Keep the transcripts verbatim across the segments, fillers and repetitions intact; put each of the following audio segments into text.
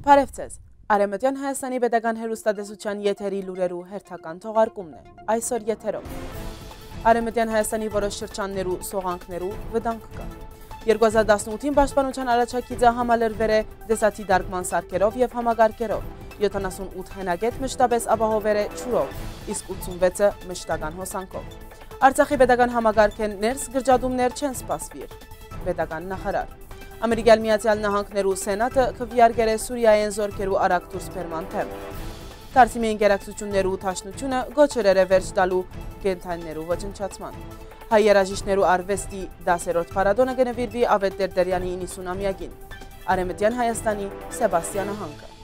Բարեւ ձեզ։ Արեւմտեան Հայաստանի Պետական Հեռուստատեսութեան եթերի լուրերու հերթական թողարկումն է այսօր եթերով։ Արեւմտեան Հայաստանի որոշ շրջաններու սողանքներու վտանգ կայ։ Երկու հազար տասնութին պաշտպանութեան առաջագիծը համալրուեր է տեսադիտարկման սարքերով եւ համակարգերով, յոթանասուն ութ հենագէտ մշտապէս ապահովուեր է ջուրով, իսկ ութսունվեցը մշտական հոսանքով։ Արցախի պետական համակարգէն ներս կրճատումներ չեն սպասուիր, պետական նախարար։ Ամերիկյան Միացյալ Նահանգներու Սենատը քուեարկեր է Սուրիայէն զորքերու արագ դուրսբերման դէմ։ Թարսիմի ընկերակցութիւններու դաշնութիւնը կոչ ըրեր է վերջ տալու կենդանիներու ոչնչացման։ Հայ երաժիշտներու արուեստի դասերորդ փառատոնը կը նուիրուի Աւետ Տերտերեանի իննսուն ամեակին։ Արեւմտեան Հայաստանի Սեբաստիա նահանգը։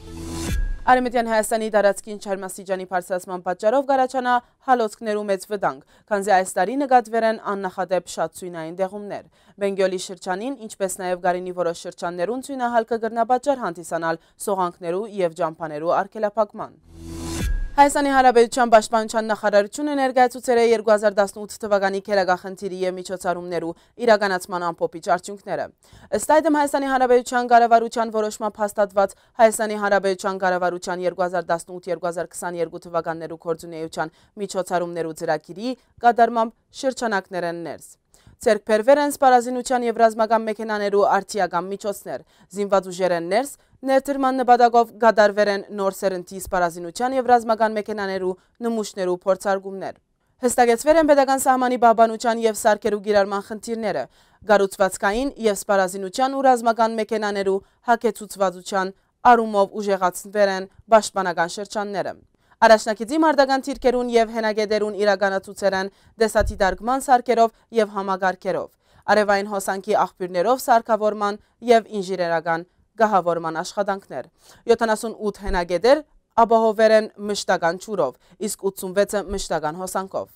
Արեւմտեան Հայաստանի տարածքին ջերմաստիճանի բարձրացման պատճառով կառաջանայ հալոցքներու մեծ վտանգ, քանզի այս տարի նկատուեր են աննախադէպ շատ ցոյնային տեղումներ։ Բենգյոլի շրջանին, ինչպէս նաեւ Գարինի որոշ շրջաններուն, ցոյնահալքը կրնայ պատճառ հանդիսանալ սողանքներու եւ ճամբաներու արգելափակման։ Հայաստանի Հանրապետութեան պաշտպանութեան նախարարութիւնը ներկայացուցեր է երկու հազար տասնութ թուականի գերագախնդիրի եւ միջոցառումներու իրականացման ամփոփիչ արդիւնքները։ Ըստ այդմ, Հայաստանի Հանրապետութեան կառավարութեան որոշմամբ հաստատուած Հայաստանի Հանրապետութեան կառավարութեան երկու հազար տասնութ երկու հազար քսաներկու թուականներու գործունեութեան միջոցառումներու ծրագիրի կատարմամբ շրջանակներէն ներս ձեռք բերուեր են սպառազինութեան եւ ռազմական մեքենաներու արդիական միջոցներ, զինուած ուժերէն ներս ներդրման նպատակով կատարուեր են նոր սերնդի սպառազինութեան եւ ռազմական մեքենաներու նմուշներու փորձարկումներ։ Հստակեցուեր են պետական սահմանի պահպանութեան եւ սարքերու կիրառման խնդիրները, կառուցուածքային եւ սպառազինութեան ու ռազմական մեքենաներու հագեցուցվածութեան առումով ուժեղացուեր են պաշտպանական շրջանները։ Առաջնագիծի մարտական դիրքերուն եւ հենագետերուն իրականացուցեր են տեսադիտարկման սարքերով եւ համակարգերով, արեւային հոսանքի աղբիւրներով սարքաւորման եւ ինժեներական կահաւորման աշխատանքներ։ Յոթանասուն ութ հենագետեր ապահովեր են մշտական ջուրով, իսկ ութսունվեցը մշտական հոսանքով։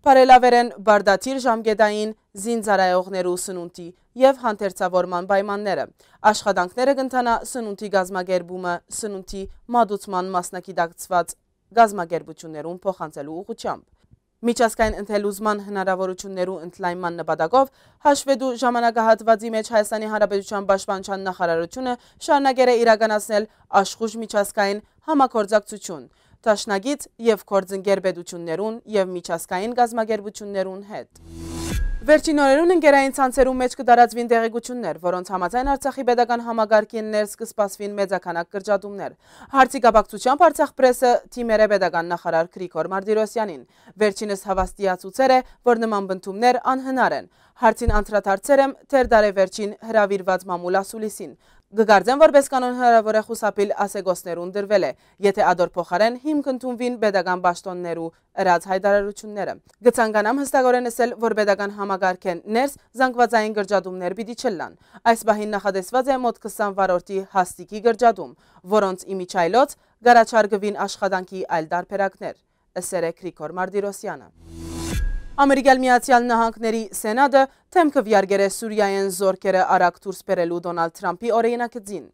Բարելաւեր են պարտադիր ժամկետային զինծառայողներու սնունդի եւ հանդերձաւորման պայմանները։ Աշխատանքները կ'ընթանայ սնունդի կազմակերպումը սնունդի մատուցման մասնագիտացուած կազմակերպութիւններուն փոխանցելու ուղղութեամբ։ Միջազգային ընդելուզման հնարաւորութիւններու ընդլայնման նպատակով հաշուետու ժամանակահատուածի մէջ Հայաստանի Հանրապետութեան պաշտպանութեան նախարարութիւնը շարունակեր է իրականացնել աշխուժ միջազգային համագործակցութիւն, դաշնակից եւ գործընկեր պետութիւններուն եւ միջազգային կազմակերպութիւններուն հետ։ Վերջին օրերուն ընկերային ցանցերու մէջ կը տարածուին տեղեկութիւններ, որոնց համաձայն Արցախի պետական համակարգին ներս կը սպասուին մեծաքանակ կրճատումներ։ Հարցի կապակցութեամբ Արցախ պրեսը դիմեր է պետական նախարար Գրիգոր Մարտիրոսյանին։ Վերջինս հաւաստիացուցեր է, որ նման պնդումներ անհնար են։ Հարցին անդրադարձեր եմ Թերթարեվերջին հրաւիրուած մամուլ ասուլիսին։ Կը կարծեմ, որպէս կանոն հնարաւոր է խուսափիլ ասեկոսներուն տրուելէ, եթէ ատոր փոխարէն հիմք ընդունուին պետական պաշտօններու ըրած յայտարարութիւնները։ Կը ցանկանամ յստակօրէն ըսել, որ պետական համակարգէն ներս զանգուածային կրճատումներ պիտի չըլլան։ Այս պահին նախատեսուած է մօտ քսան վարորդի հաստիքի կրճատում, որոնց ի միջայլոց կառաջարկուին աշխատանքի այլ տարբերակներ, ըսեր է Գրիգոր Մարտիրոսյանը։ Ամերիկյան Միացյալ Նահանգների Սենատը դէմ քուեարկեր է Սուրիայէն զորքերը արագ դուրս բերելու Դոնալդ Թրամփի օրինագծին։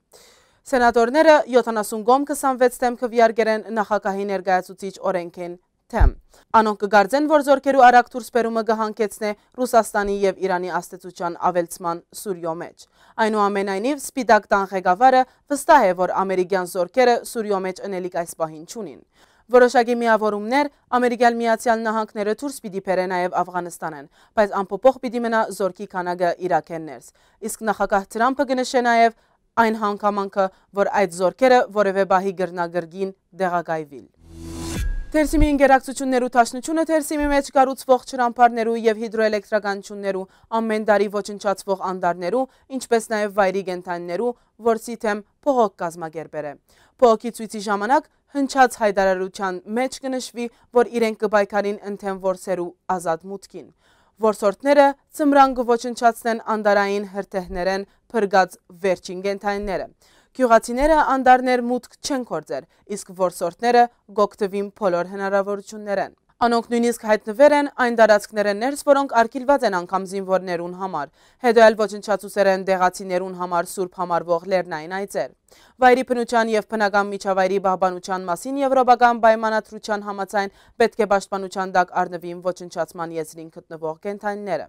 Սենատորները յոթանասուն կողմ քսանվեց դէմ քուեարկեր են նախագահի ներկայացուցիչ օրենքին դէմ։ Անոնք կը կարծեն, որ զորքերու արագ դուրս բերումը կը հանգեցնէ Ռուսաստանի եւ Իրանի ազդեցութեան աւելցման Սուրիոյ մէջ։ Այնուամենայնիվ, Սպիտակ տան ղեկավարը վստահ է, որ ամերիկյան զորքերը Սուրիոյ մէջ ընելիք այս պահին չունին։ Որոշակի միաւորումներ Ամերիկյան Միացյալ Նահանգները դուրս պիտի բերէ նաեւ Աֆղանստանէն, բայց անփոփոխ պիտի մնայ զորքի քանակը Իրաքէն ներս։ Իսկ նախագահ Թրամփը կը նշէ նաեւ այն հանգամանքը, որ այդ զորքերը որեւէ պահի կրնայ կրկին տեղակայուիլ։ Թերսիմի ընկերակցութիւններու դաշնութիւնը Թերսիմի մէջ կառուցուող ջրամբարներու եւ հիդրոէլեկտրականութիւններու ամէն տարի ոչնչացուող անտառներու, ինչպէս նաեւ վայրի կենդանիներու որսի դէմ բողոք կազմակերպեր է։ Բողոքի ցոյցի ժամանակ հնչած յայտարարութեան մէջ կը նշուի, որ իրենք կը պայքարին ընդդէմ որսերու ազատ մուտքին։ Որսորդները ձմրան կը ոչնչացնեն անտառային հրդեհներէն փրկած վերջին կենդանիները։ Գիւղացիները անտառներ մուտք չեն գործեր, իսկ որսորդները կօգտուին բոլոր հնարաւորութիւններէն։ Անոնք նոյնիսկ յայտնուեր են այն տարածքներէն ներս, որոնք արգիլուած են անգամ զինուորներուն համար։ Հետո էլ ոչնչացուցեր են տեղացիներուն համար սուրբ համարուող լեռնային այծեր։ Վայրի բնութեան եւ բնական միջավայրի պահպանութեան մասին եվրոպական պայմանադրութեան համաձայն պէտք է պաշտպանութեան տակ առնուին ոչնչացման եզրին գտնուող կենդանիները։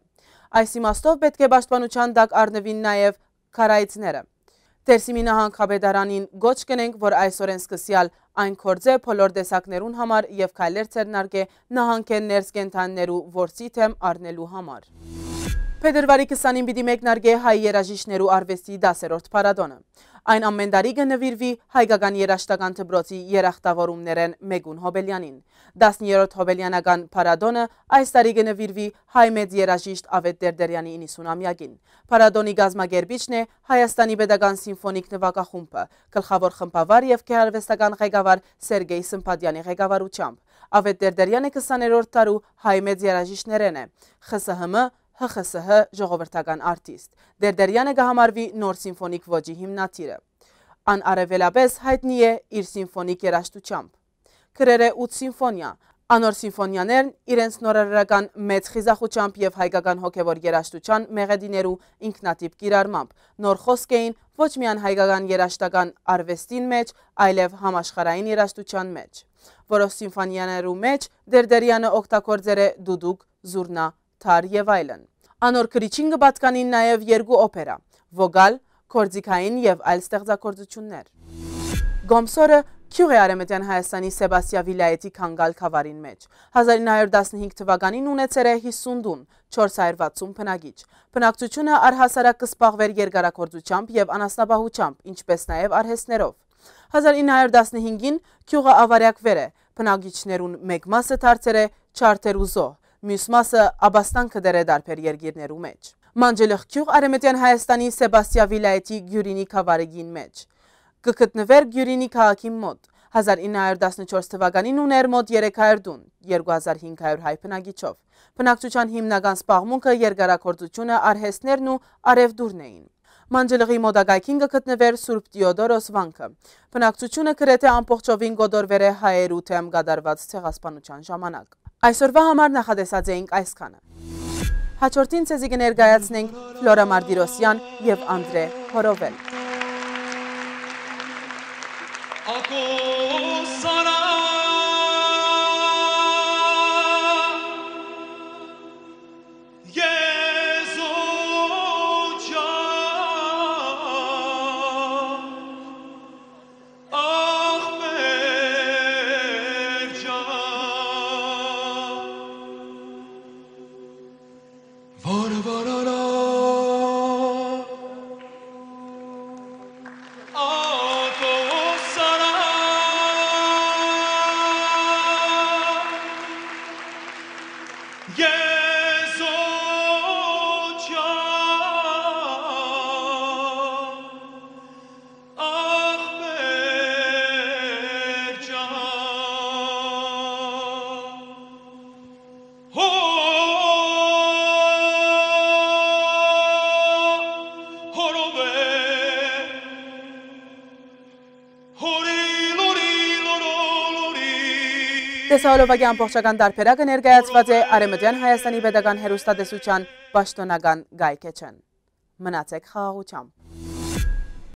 Այս իմաստով պէտք է պաշտպանութեան տակ առնուին նաեւ քարայծները։ Դերսիմի նահանգապետարանին կոչ կ'ընենք, որ այսօրէն սկսեալ այն գործէ բոլոր տեսակներուն համար եւ քայլեր ձեռնարկէ նահանգէն ներս կենդանիներու որսի դէմ առնելու համար։ Փետրուարի քսանին պիտի մեկնարկէ հայ երաժիշտներու արուեստի դասերորդ փառատոնը։ Այն ամէն տարի կը նուիրուի հայկական երաժշտական դպրոցի երախտաւորումներէն մէկուն Հոբելեանին։ Տասներորդ Հոբելեանական փառատոնը այս տարի կը նուիրուի հայ մեծ երաժիշտ Աւետ Տերտերեանի իննսունամեակին։ Փառատոնի կազմակերպիչն է Հայաստանի Պետական Սիմֆոնիկ նուագախումբը, գլխաւոր խմբավար եւ գեղարուեստական ղեկավար Սերգեյ Սմբատեանի ղեկավարութեամբ։ Աւետ Տերտերեանը քսաներորդ դարու հայ մեծ երաժիշտներէն է, Խ Ս Հ Մ, Հ Խ Ս Հ ժողովրդական արտիստ։ Տերտերեանը կը համարուի նոր սիմֆոնիկ ոճի հիմնադիրը։ Ան առաւելապէս յայտնի է իր սիմֆոնիկ երաժշտութեամբ։ Գրեր է ութ սիմֆոնիա։ Անոր սիմֆոնիաներն իրենց նորարարական մեծ խիզախութեամբ եւ հայկական հոգեւոր երաժշտության մեղեդիներու ինքնատիպ կիրառմամբ նոր խօսք էին ոչ միայն հայկական երաժշտական արուեստին մէջ, այլեւ համաշխարհային երաժշտության մէջ, որով սիմֆոնիաներու մէջ Տերտերեանը օգտագործեր է դուդուկ, զուռնա, թար եւ այլն։ Անոր գրիչին կը պատկանին նաեւ երկու օփերա՝ Վոգալ, Գործիքային եւ այլ ստեղծագործություններ։ Կոմսորը գիւղ է Արեւմտեան Հայաստանի Սեբաստիա վիլայէթի Քանգալ գաւառին մէջ։ Հազար ինը հարիւր տասնհինգ թուականին ունեցեր է յիսուն տուն, չորս հարիւր վաթսուն բնակիչ։ Բնակչութիւնը առհասարակ կը զբաղուէր երկարագործութեամբ եւ անասնապահութեամբ, ինչպէս նաեւ արհեստներով։ Հազար ինը հարիւր տասնհինգին գիւղը աւարեակուեր է, բնակիչներուն մէկ մասը դարձեր է չարդեր ու զոհ, միւս մասը ապաստան գտեր է տարբեր երկիրներու մէջ։ Մանջլխ գիւղ Արեւմտեան Հայաստանի Սեբաստիա վիլայէթի Գիւրինի գաւառին մէջ։ Կը գտնուէր Գիւրինի քաղաքին մօտ։ Հազար ինը հարիւր տասնչորս թուականին ունէր մօտ երեք հարիւր տուն, երկու հազար հինգ հարիւր հայ բնակիչով։ Բնակչութեան հիմնական զբաղմունքը երկարագործութիւնը, արհեստներն ու առեւտուրն էին։ Մանջլղի մօտակայքին կը գտնուէր Սուրբ Տիոդորոս վանքը։ Բնակչութիւնը գրեթէ ամբողջովին կոտորուեր է հայերու դէմ կատարուած ցեղասպանութեան ժամանակ։ Այսօրուայ համար նախատեսած էինք այսքանը։ Հաջորդին ձեզի կը ներկայացնենք Ֆլորա Մարտիրոսեան եւ Անդրէ Հորովել։ Տեսահոլովակի ամբողջական տարբերակը ներկայացուած է Արեւմտեան Հայաստանի Պետական Հեռուստատեսութեան պաշտօնական կայքէջէն։ Մնացեք խաղաղութեամբ։